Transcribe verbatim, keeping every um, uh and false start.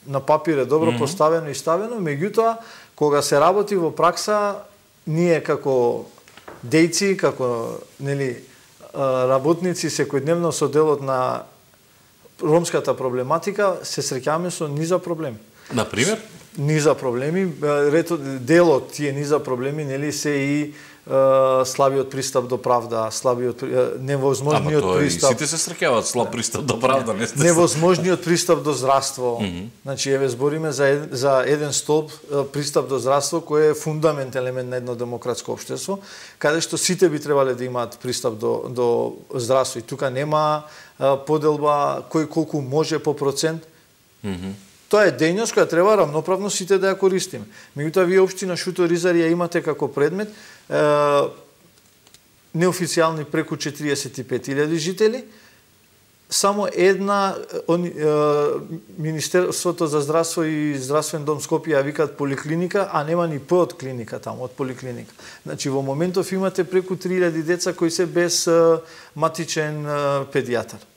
на папир е добро mm -hmm. поставено и ставено, меѓутоа кога се работи во пракса, ние како дејци, како нели работници секојдневно со делот на ромската проблематика се среќаваме со низа проблеми. На пример? Низа проблеми, делот тие низа проблеми нели се и слабиот пристап до правда, слабиот невозможниот Ама, пристап. Сите се среќаваат слаб пристап до правда, не сте. Невозможниот пристап до здравство. Mm -hmm. Значи еве збориме за за еден столб пристап до здравство кој е фундамент елемент на едно демократско општество, каде што сите би требале да имаат пристап до до здравство и тука нема поделба кој колку може по процент. Mm -hmm. Тоа е дејност која треба рамноправно сите да ја користиме. Меѓутоа вие општина Шуто Ризари ја имате како предмет е, неофицијални преку четириесет и пет илјади жители, само една он, е, Министерството за здравство и здравствен дом Скопје ја викаат поликлиника, а нема ни П од клиника таму, од поликлиника. Значи во моментов имате преку три илјади деца кои се без е, матичен е, педијатар.